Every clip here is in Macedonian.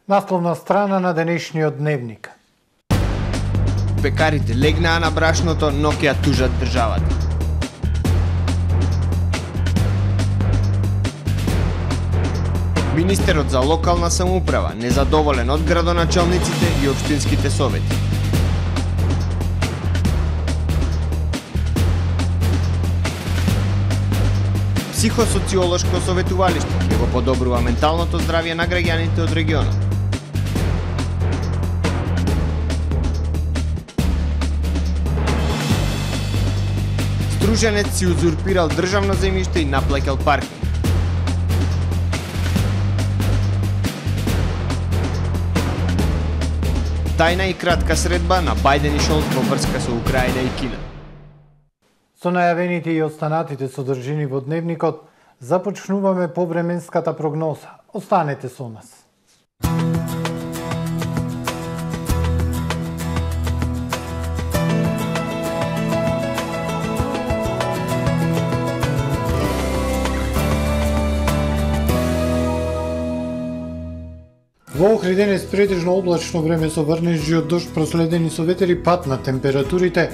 Насловна страна на денешниот дневник. Пекарите легнаа на брашното, но ќе ја тужат државата. Министерот за локална самоуправа незадоволен од градоначалниците и општинските совети. Психосоциолошко советувалиште ќе го подобрува менталното здравје на граѓаните од регионот. Струженец си узурпирал државно земјиште и наплаќал паркинг. Тајна и кратка средба на Бајден и Шолц во врска со Украина и Кина. Со најавените и останатите содржини во дневникот, започнуваме повременската прогноза. Останете со нас. Во Охрид денес претежно облачно време со врнежи од дожд, проследени со ветер и пад на температурите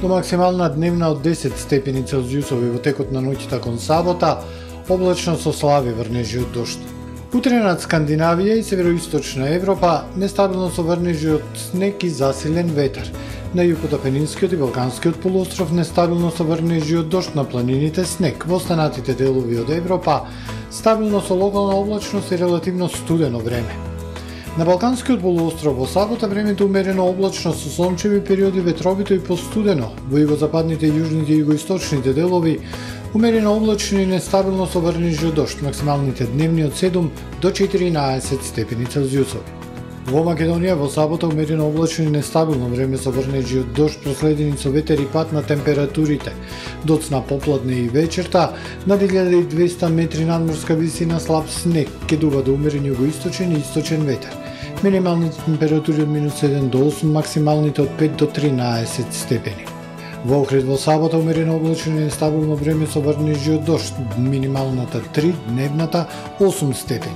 до максимална дневна од 10 степени Целзиусови во текот на ноќта кон сабота, облачно со слаби врнежи од дожд. Утре над Скандинавија и североисточна Европа нестабилно со врнежи од снег и засилен ветер. На југот Апенинскиот и Балканскиот полуостров нестабилно со врнежи од дожд, на планините снег. Во останатите делови од Европа стабилно со локална облачност и релативно студено време. На Балканскиот полуостров во сабота времето умерено облачно со сончеви периоди, ветровито и постудено. Во југозападните, јужните и југоисточните делови умерено облачно и нестабилно со врнежи од дожд, максималните дневни од 7 до 14 степени Целзиусови. Во Македонија во сабота умерено облачно и нестабилно време со врнежи од дожд, проследени со ветер и пад на температурите. Доцна попладне и вечерта, над 1200 метри надморска висина, слаб снег, ќе дува до умерен југоисточен и источен ветер. Минималните температури од -7 до 8, максималните од 5 до 13 степени. Во Охрид во сабота умерено облачно и нестабилно време со врнежи од дожд, минималната 3, дневната 8 степени.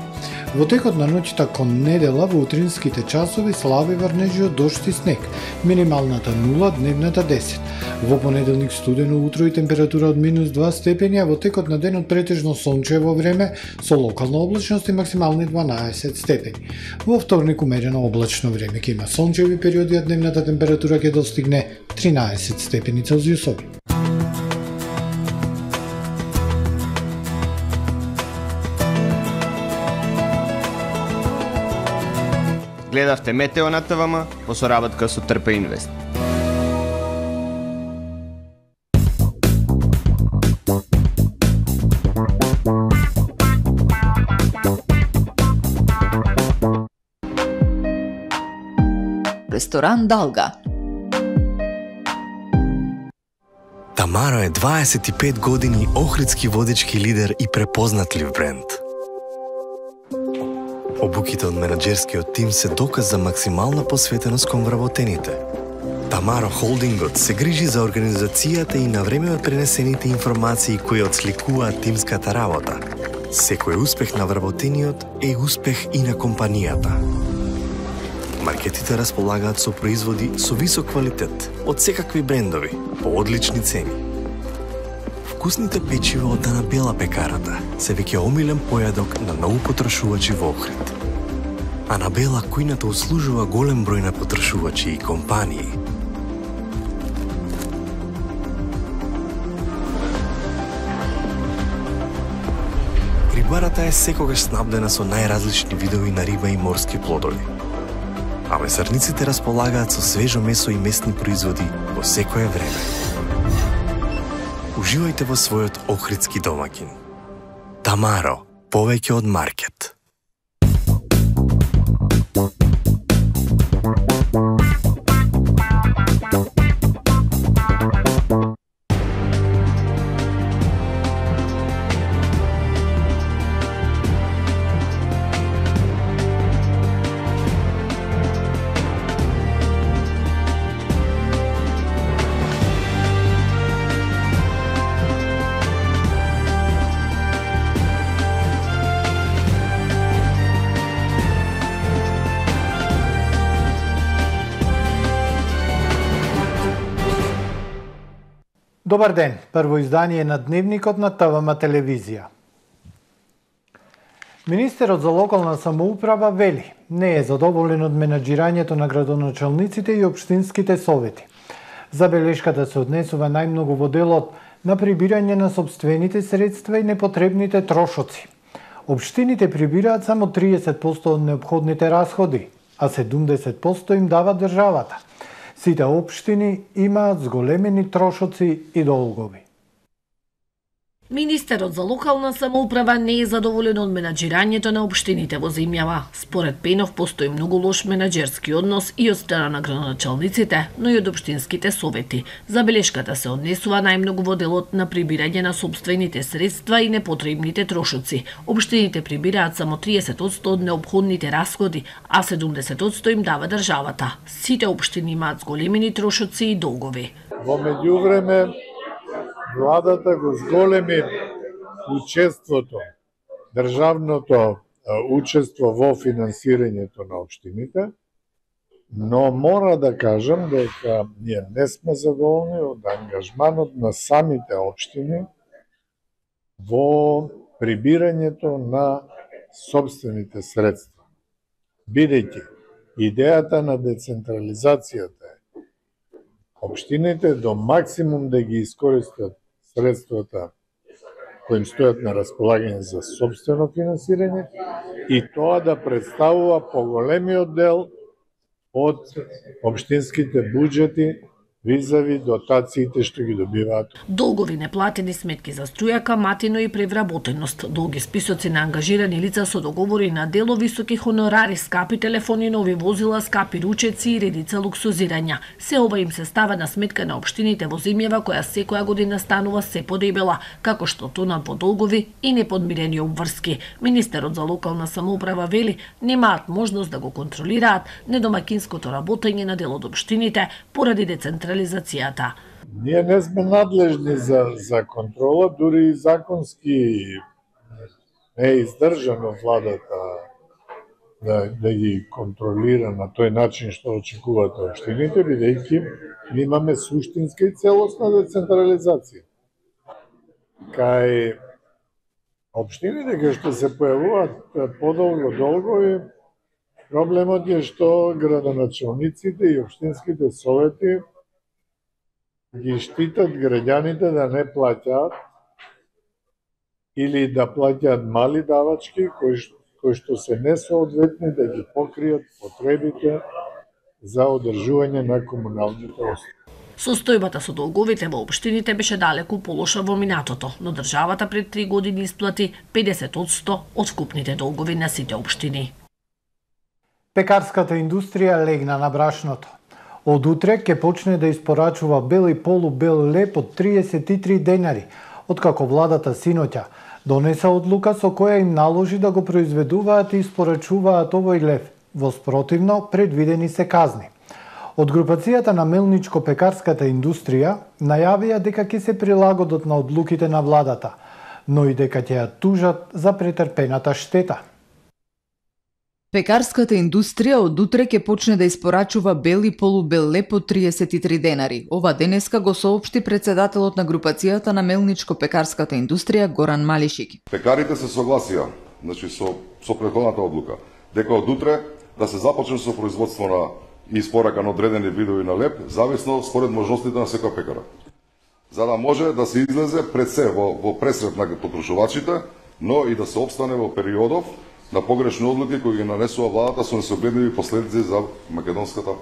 Во текот на ноќта кон недела во утринските часови слаби врнежи од дожд и снег, минималната 0, дневната 10. Во понеделник студено утро и температура од -2 степени, а во текот на денот претежно сончево време со локална облачност и максимални 12 степени. Во вторник умерено облачно време, ќе има сончеви периоди, а дневната температура ќе достигне 13 степени Целзиусови. Гледавте Метео на ТВМ во соработка со Трпе Инвест. Ресторан Далга. Тамаро е 25 години охридски водечки лидер и препознатлив бренд. Обуките од менаџерскиот тим се доказ за максимална посветеност кон вработените. Тамаро Холдингот се грижи за организацијата и на време од пренесените информации кои отсликуваат тимската работа. Секој успех на вработениот е успех и на компанијата. Маркетите располагаат со производи со висок квалитет од секакви брендови по одлични цени. Вкусните печива од Анабела пекарата се веќе омилен појадок на многу потрошувачи во Охрид. Анабела кујната услужува голем број на потрошувачи и компании. Рибарата е секогаш снабдена со најразлични видови на риба и морски плодови. А месарниците располагаат со свежо месо и месни производи во секое време. Уживајте во својот охридски домаќин. Тамаро, повеќе од маркет. Добар ден, прво издание на Дневникот на ТВМ телевизија. Министерот за локална самоуправа вели, не е задоволен од менаџирањето на градоначалниците и општинските совети. Забелешката се однесува најмногу во делот на прибирање на сопствените средства и непотребните трошоци. Општините прибираат само 30% од неопходните расходи, а 70% им дава државата. Сите општини имаат зголемени трошоци и долгови. Министерот за локална самоуправа не е задоволен од менаџирањето на општините во земјава. Според Пенов постои многу лош менаџерски однос и од страна на градоначалниците, но и од општинските совети. Забелешката се однесува најмногу во делот на прибирање на сопствените средства и непотребните трошоци. Општините прибираат само 30% од неопходните расходи, а 70% им дава државата. Сите општини имаат зголемени трошоци и долгови. Во меѓувреме владата го зголеми учеството, државното учество во финансирањето на општините, но мора да кажам дека ние не сме задоволни од ангажманот на самите општини во прибирањето на собствените средства. Бидејќи идејата на децентрализацијата е општините до максимум да ги искористат средствата кои им стојат на располагање за собствено финансирање и тоа да представува поголемиот дел од општинските буџети визави дотациите што ги добиваат. Долгови неплатени сметки за струја, каматино и превработеност, долги списоци на ангажирани лица со договори на дело, високи хонорари, скапи телефони, нови возила, скапи ручеци и редица луксузирања. Се ова им се става на сметка на општините во земјава која секоја година станува се подебела, како што тонат во долгови и неподмирени обврски. Министерот за локална самоуправа вели, немаат можност да го контролираат недомакинското работење на дел од општините поради децентрализацијата. Ние не сме надлежни за контрола, дури и законски не е издржано владата да ги контролира на тој начин што очекуваат општините, бидејќи ми имаме суштинска и целосна децентрализација. Кај општините кај што се појавуваат подолго долгови, проблемот е што градоначалниците и општинските совети ги штитат граѓаните да не плаќаат или да плаќаат мали давачки кои што се несоодветни да ги покријат потребите за одржување на комуналните услуги. Состојбата со долговите во општините беше далеку полоша во минатото, но државата пред 3 години исплати 50% од вкупните долгови на сите општини. Пекарската индустрија легна на брашното. Од утре ќе почне да испорачува бел и полубел леб од 33 денари, откако владата синоќа донеса одлука со која им наложи да го произведуваат и испорачуваат овој леб. Во спротивно, предвидени се казни. Од групацијата на мелничко-пекарската индустрија најавија дека ќе се прилагодат на одлуките на владата, но и дека ќе ја тужат за претрпената штета. Пекарската индустрија од утре ќе почне да испорачува бел и полубел леб од 33 денари. Ова денеска го соопшти председателот на групацијата на мелничко-пекарската индустрија Горан Малишик. Пекарите се согласија, со претходната одлука, дека од утре да се започне со производство на и испорака на одредени видови на леб, зависно според можностите на секој пекара. За да може да се излезе пред се во пресрет на потрошувачите, но и да се обстане во периодов на погрешни одлуки кои ги нанесува владата со несогледливи последици за македонската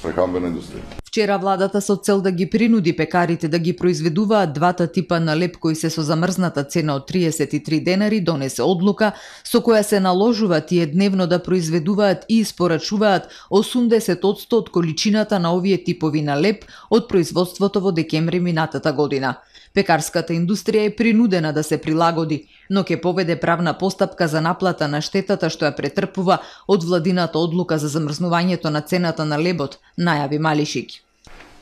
прехранбена индустрија. Вчера владата со цел да ги принуди пекарите да ги произведуваат двата типа на леб кои се со замрзната цена од 33 денари донесе одлука со која се наложува тие дневно да произведуваат и испорачуваат 80% од количината на овие типови на леб од производството во декември минатата година. Пекарската индустрија е принудена да се прилагоди, но ќе поведе правна постапка за наплата на штетата што ја претрпува од владината одлука за замрзнувањето на цената на лебот, најави Малишик.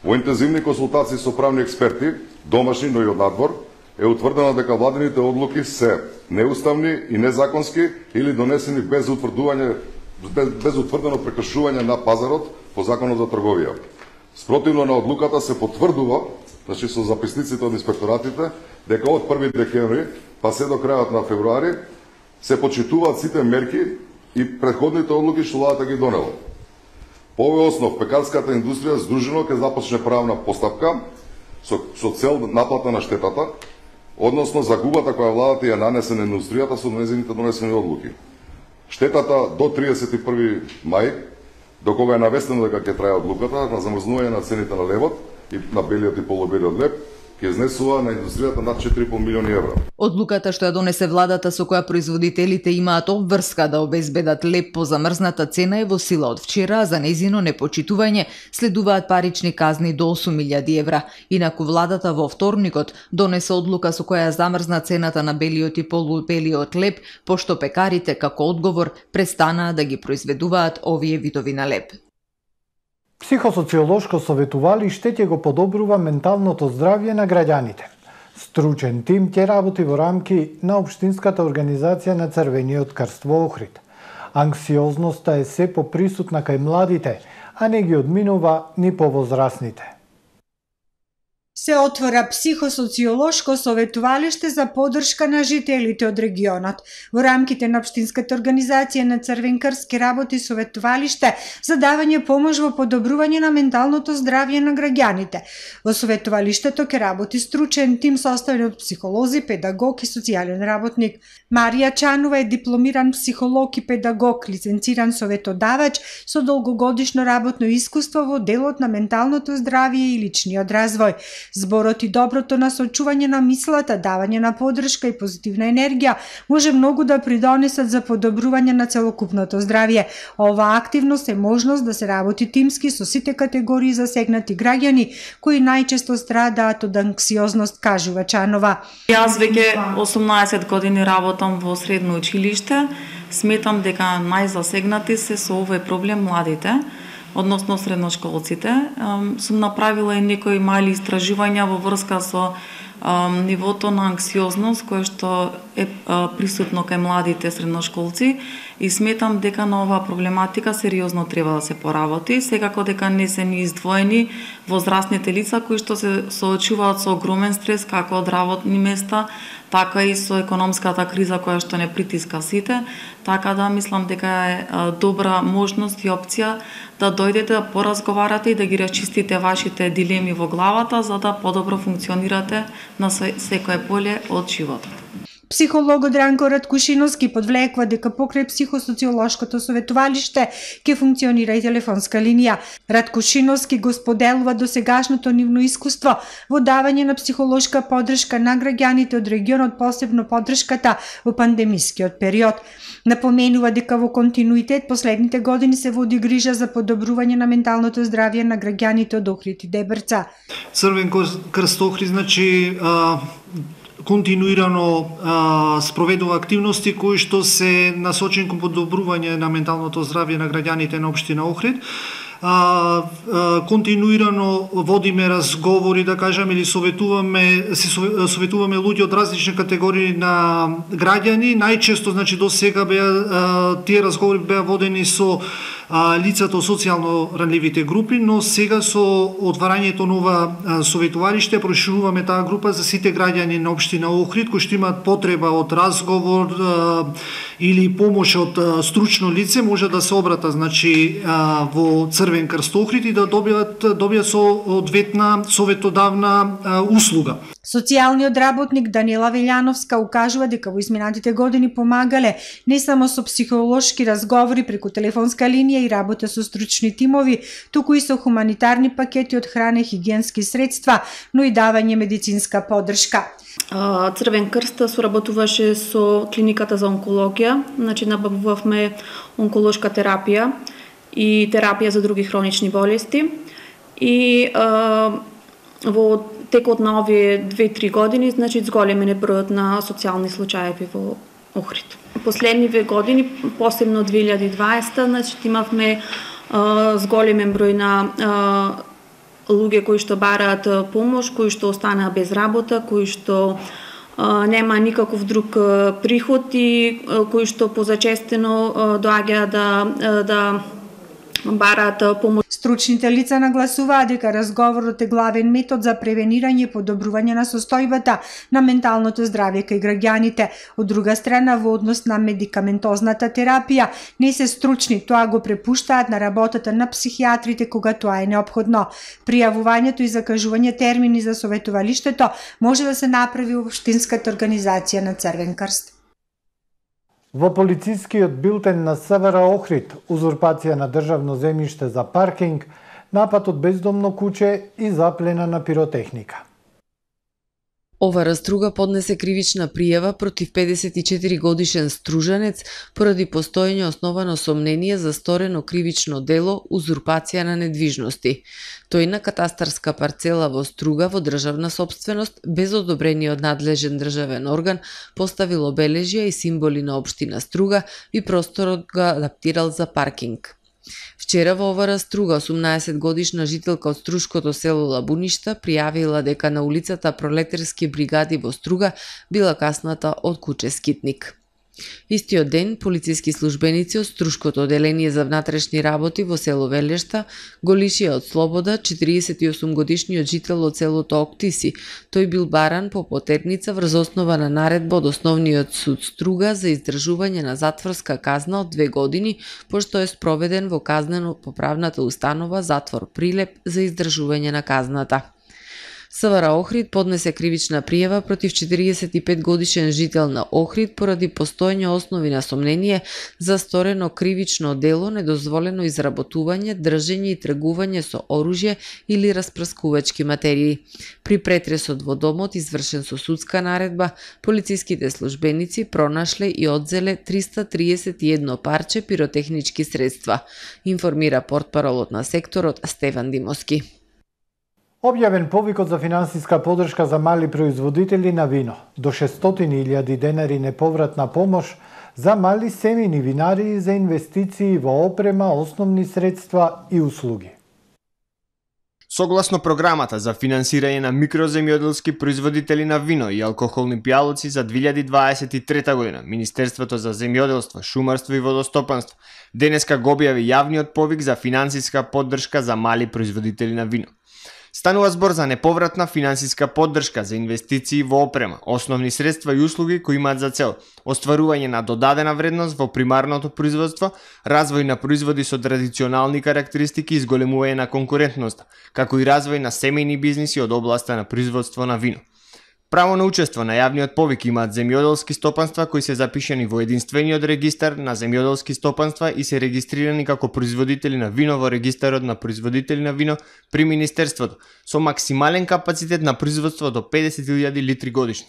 Во интензивни консултации со правни експерти, домашни, но и од надвор, е утврдено дека владините одлуки се неуставни и незаконски или донесени без утврдено прекршување на пазарот по Законот за трговија. Спротивно на одлуката се потврдува значи со записниците од инспекторатите, дека од 1 декември па се до крајот на февруари се почитуваат сите мерки и претходните одлуки што владата ги донела. По овој основ, пекарската индустрија здружено ќе започне правна постапка со цел наплата на штетата, односно загубата која владата ја нанесе на индустријата со нејзините донесени одлуки. Штетата до 31 мај, до кога е навестено дека ќе трае одлуката на замрзнување на цените на левот и на белиот и полубелиот леб, ќе изнесува на индустријата над 4,5 милиони евра. Одлуката што ја донесе владата со која производителите имаат обврска да обезбедат леб по замрзната цена е во сила од вчера, а за нејзино непочитување следуваат парични казни до 8.000 евра. Инаку владата во вторникот донесе одлука со која замрзна цената на белиот и полубелиот леб, пошто пекарите како одговор престанаа да ги произведуваат овие видови на леб. Психосоциолошко советувалиште ќе го подобрува менталното здравје на граѓаните. Стручен тим ќе работи во рамки на Општинската организација на Црвениот крст во Охрид. Анксиозноста е се поприсутна кај младите, а не ги одминува ни повозрасните. Се отвора психосоциолошко советувалиште за поддршка на жителите од регионот. Во рамките на Општинската организација на Црвен крст ке работи советувалиште за давање помош во подобрување на менталното здравје на граѓаните. Во советувалиштето ке работи стручен тим составен од психолози, педагог и социјален работник. Марија Чанова е дипломиран психолог и педагог, лиценциран советодавач со долгогодишно работно искуство во делот на менталното здравје и личниот развој. Зборот и доброто насочување на мислата, давање на поддршка и позитивна енергија може многу да придонесат за подобрување на целокупното здравје. Оваа активност е можност да се работи тимски со сите категории засегнати граѓани кои најчесто страдаат од анксиозност, кажува Чанова. Јас веќе 18 години работам во средно училиште. Сметам дека најзасегнати се со овој проблем младите, односно средношколците. Сум направила и некои мали истражувања во врска со нивото на анксиозност кој што е присутно кај младите средношколци и сметам дека на оваа проблематика сериозно треба да се поработи. Секако дека не се ни издвоени возрастните лица кои што се соочуваат со огромен стрес како од работни места, така и со економската криза која што не притиска сите, така да мислам дека е добра можност и опција да дојдете да поразговарате и да ги расчистите вашите дилеми во главата за да подобро функционирате на секое поле од животот. Психологот Ранко Раткушиновски подвлекува дека покрај психосоциолошкото советувалиште ќе функционира и телефонска линија. Раткушиновски го споделува досегашното нивно искуство во давање на психолошка поддршка на граѓаните од регионот, посебно поддршката во пандемискиот период. Напоменува дека во континуитет последните години се води грижа за подобрување на менталното здравје на граѓаните од Охрид и Дебрца. Црвен крст Охрид, значи континуирано спроведува активности кои што се насочени кон подобрување на менталното здравје на граѓаните на општина Охрид. Континуирано водиме разговори, да кажам, или советуваме луѓе од различни категории на граѓани. Најчесто, значи, до сега тие разговори беа водени со лицата од социјално ранливите групи, но сега со отварањето на ова советувалиште прошируваме таа група за сите граѓани на општина Охрид кои што имаат потреба од разговор или помош од стручно лице, може да се обрата, значи, во Црвен крст Охрид и да добијат соодветна советодавна услуга. Социјалниот работник Даниела Велјановска укажува дека во изминатите години помагале не само со психолошки разговори преку телефонска линија и работа со стручни тимови, туку и со хуманитарни пакети од храна и хигиенски средства, но и давање медицинска поддршка. Црвен крст соработуваше со клиниката за онкологија, значи набавувавме онколошка терапија и терапија за други хронични болести и во текот на овие 2-3 години, значи, зголемен е бројот на социјални случаи во Охрид. Последниве години, посебно 2020, значи, имавме зголемен број на луѓе кои што бараат помош, кои што останаа без работа, кои што нема никаков друг приход и кои што позачестено доаѓаат да бараат помош. Стручните лица нагласуваат дека разговорот е главен метод за превенирање и подобрување на состојбата на менталното здравје кај граѓаните. Од друга страна, во однос на медикаментозната терапија, не се стручни, тоа го препуштаат на работата на психијатрите кога тоа е неопходно. Пријавувањето и закажување термини за советувалиштето може да се направи во општинската организација на Црвен крст. Во полицискиот билтен на СВР Охрид, узурпација на државно земјиште за паркинг, напад од бездомно куче и заплена на пиротехника. ОВР Струга поднесе кривична пријава против 54 годишен стружанец поради постоење основано сомнение за сторено кривично дело узурпација на недвижности. Тој на катастарска парцела во Струга во државна сопственост без одобрение од надлежен државен орган поставил обележја и символи на општина Струга и просторот го адаптирал за паркинг. Вчера во ОВР Струга 18 годишна жителка од струшкото село Лабуништа пријавила дека на улицата Пролетарски бригади во Струга била касната од куче скитник. Истиот ден, полициски службеници од Струшкото оделение за внатрешни работи во село Велешта го лишија од слобода 48 годишниот жител од селото Октиси. Тој бил баран по потерница врз основа на наредба од Основниот суд Струга за издржување на затворска казна од 2 години, пошто е спроведен во казнено-поправната установа затвор Прилеп за издржување на казната. СВР Охрид поднесе кривична пријава против 45 годишен жител на Охрид поради постоење основи на сомнение за сторено кривично дело, недозволено изработување, држење и тргување со оружје или распрскувачки материи. При претресот во домот, извршен со судска наредба, полициските службеници пронашле и одзеле 331 парче пиротехнички средства, информира портпаролот на секторот Стефан Димовски. Објавен повикот за финансиска поддршка за мали производители на вино. До 600.000 денари неповратна помош за мали семејни винари за инвестиции во опрема, основни средства и услуги. Согласно програмата за финансирање на микроземјоделски производители на вино и алкохолни пијалоци за 2023 година, Министерството за земјоделство, шумарство и водостопанство денеска го објави јавниот повик за финансиска поддршка за мали производители на вино. Станува збор за неповратна финансиска поддршка за инвестиции во опрема, основни средства и услуги кои имаат за цел остварување на додадена вредност во примарното производство, развој на производи со традиционални карактеристики и зголемување на конкурентноста, како и развој на семејни бизниси од областа на производство на вино. Право на учество на јавниот повик имаат земјоделски стопанства кои се запишани во единствениот регистар на земјоделски стопанства и се регистрирани како производители на вино во регистарот на производители на вино при Министерството, со максимален капацитет на производство до 50.000 литри годишно.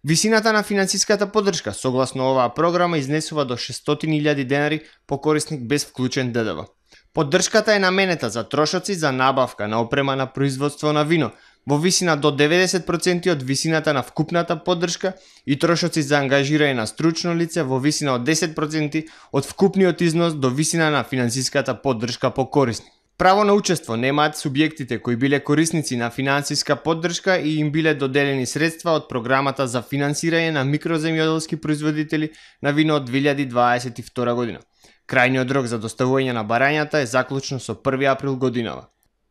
Висината на финансиската поддршка согласно оваа програма изнесува до 600.000 денари по корисник без вклучен ДДВ. Поддршката е наменета за трошоци за набавка на опрема на производство на вино, во висина до 90% од висината на вкупната поддршка и трошоци за ангажирање на стручно лице во висина од 10% од вкупниот износ до висина на финансиската поддршка по корисник. Право на учество немаат субјектите кои биле корисници на финансиска поддршка и им биле доделени средства од програмата за финансирање на микроземјоделски производители на вино од 2022 година. Крајниот рок за доставување на барањата е заклучно со 1 април годинава.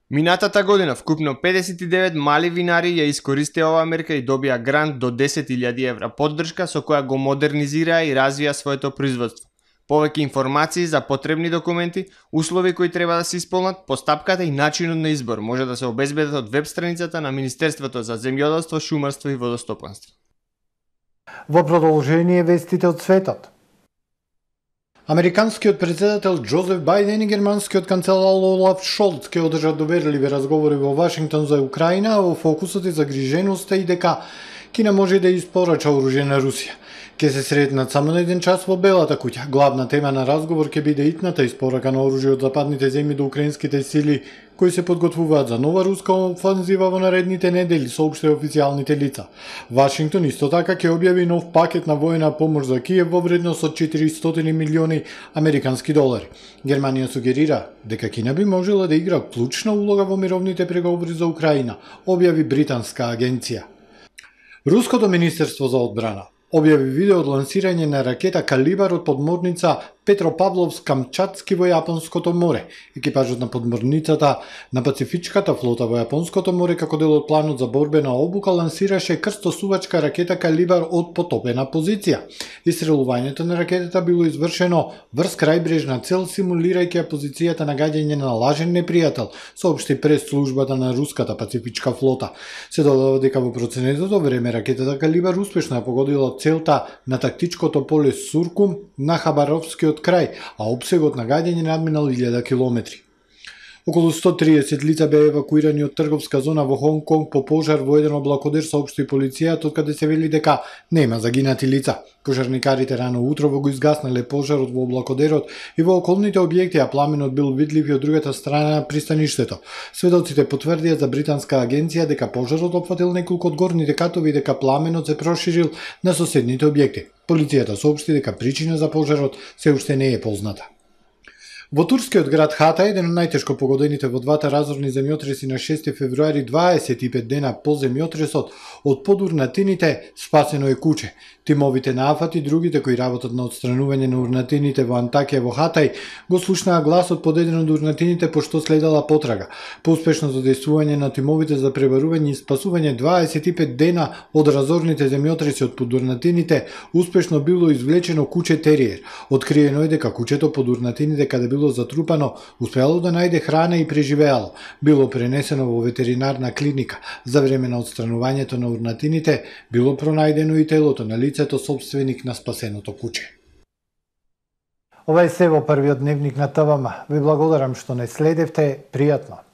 Минатата година вкупно 59 мали винари ја искористија оваа мерка и добија грант до 10.000 евра поддршка со која го модернизираа и развија своето производство. Повеќе информации за потребни документи, услови кои треба да се исполнат, постапката и начинот на избор може да се обезбедат од веб страницата на Министерството за земјоделство, шумарство и водостопанство. Во продолжение вестите од светот. Американскиот председател Џозеф Бајден и германскиот канцелар Олаф Шолц ќе одржат доверливи разговори во Вашингтон за Украина, а во фокусот е загриженоста и дека Кина може да испорача оружје на Русија. Ке се сретнат само на 1 час во Белата куќа. Главна тема на разговор ќе биде итната испорака на оружје од западните земји до украинските сили кои се подготвуваат за нова руска офанзива во наредните недели, соопштија официјалните лица. Вашингтон исто така ќе објави нов пакет на воена помош за Киев во вредност од 400 милиони американски долари. Германија сугерира дека Кина би можела да игра клучна улога во мировните преговори за Украина, објави британска агенција. Руското министерство за одбрана објави видео од лансирање на ракета Калибар од подморница Петропавловск-Камчатски во Јапонското море. Екипажот на подморницата на Пацифичката флота во Јапонското море како дел од планот за борбена обука лансираше крстосувачка ракета калибар од потопена позиција. Истрелувањето на ракетата било извршено врз крајбрежна цел, симулирајќи позицијата на гаѓање на лажен непријател, соопшти прес-службата на руската Пацифичка флота. Се додава дека во проценетото време ракетата калибар успешно ја погодила целта на тактичкото поле Суркум на Хабаровскиот крај, а опсегот на гаѓање надминал 1000 километри. Околу 130 лица беа евакуирани од трговска зона во Хонг Конг по пожар во еден облакодер, соопшти полицијата, од каде се вели дека нема загинати лица. Пожарникарите рано утрово го изгаснале пожарот во облакодерот и во околните објекти, а пламенот бил видлив и од другата страна на пристаништето. Сведоците потврдија за британска агенција дека пожарот опфатил неколку од горните катови и дека пламенот се проширил на соседните објекти. Полицијата соопшти дека причина за пожарот се уште не е позната. Во турскиот град Хата, еден од најтешко погодените во двата разорни земјотреси на 6 февруари, 25 дена по земјотресот, од подурнатините спасено е куче. Тимовите на АФАТ и другите кои работат на отстранување на урнатините во Антакија во Хатај го слушнаа гласот подеден од урнатините пошто следела потрага. По успешното дејствување на тимовите за пребарување и спасување 25 дена од разорните земјотреси од подурнатините, успешно било извлечено куче териер. Откриено е дека кучето под урнатините каде било затрупано, успеало да најде храна и преживеало. Било пренесено во ветеринарна клиника. За време на отстранувањето на урнатините било пронајдено и телото на лицето собственик на спасеното куче. Ова е се во првиот дневник на ТВМ. Ви благодарам што не следевте. Пријатно.